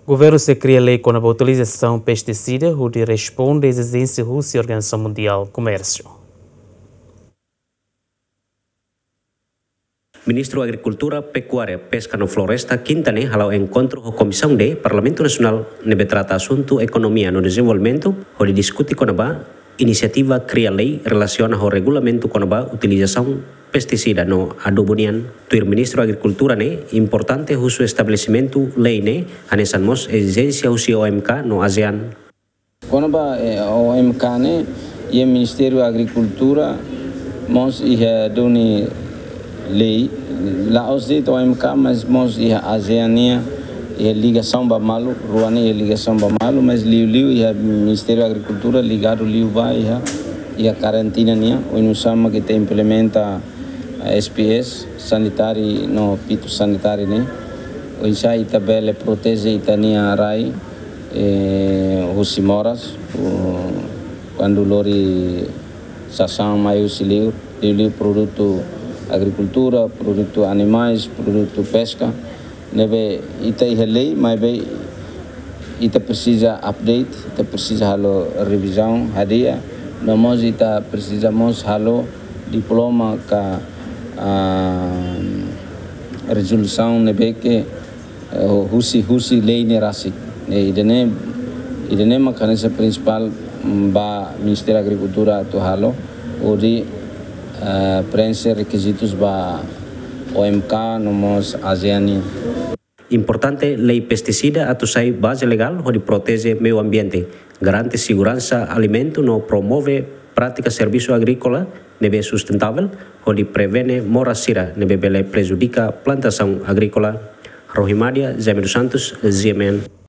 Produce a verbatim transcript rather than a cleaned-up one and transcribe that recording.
Governu sei kria lei kona-ba utilizasaun pestisida hodi responde ezijénsia husi Organizasaun Mundiál Komérsiu. Ministru Agrikultura, Pekuária, Peska no Floresta, Kinta ne'e hala'o enkontru ho Komisaun D Parlamentu Nasionál ne'ebé trata asuntu ekonomia no dezenvolvimentu, hodi diskute kona-ba inisiativa kria lei relasiona ho regulamentu kona-ba utilizasaun pestisida no adubu nian. Tuir Ministru Agrikultura ne'e, importante husu estabelesimentu lei ne'e, hanesan mós ezijénsia husi O M K no ASEAN. Kona-ba, eh, O M K ne'e, iha Ministériu Agrikultura mós iha duni lei, la'ós de'it O M K, mas mós iha ASEAN nian, iha ligasaun ba malu, rua ne'e iha ligasaun ba malu, mas liuliu iha Ministériu Agrikultura ligadu liu ba iha, iha karantina nian, oinsá mak ita implementa, eh, S P S, sanitari no fitosanitari ne'e, oinsá ita bele proteje ita-nia rai, eh, husi moras, uh, kuandu lori sasán mai husi liur, liuliu produtu agrikultura, produtu animais, produtu peska, ne'ebé ita iha lei, maibé ita presiza update, ita presiza halo revizaun hadi'a, no mós ita presiza mós halo diploma ka, ah, rezolusaun ne'ebé ke, eh, husi, husi lei ne'e rasik. Ne'e ida-ne'e, ida-ne'e mak hanesan prinsipál, mm, ba Ministériu Agrikultura atu halo, hodi, eh, preenxe rekizitus ba O M K no mós ASEAN nian. Importante lei pestisida atu sai baze legál hodi proteje meiu ambiente, garante seguransa alimentu no promove prátika servisu agríkola ne'ebé sustentável, hodi prevene moras sira ne'ebé bele prejudika plantasaun agríkola. Rohimadia, Jaime dos Santos, G M N.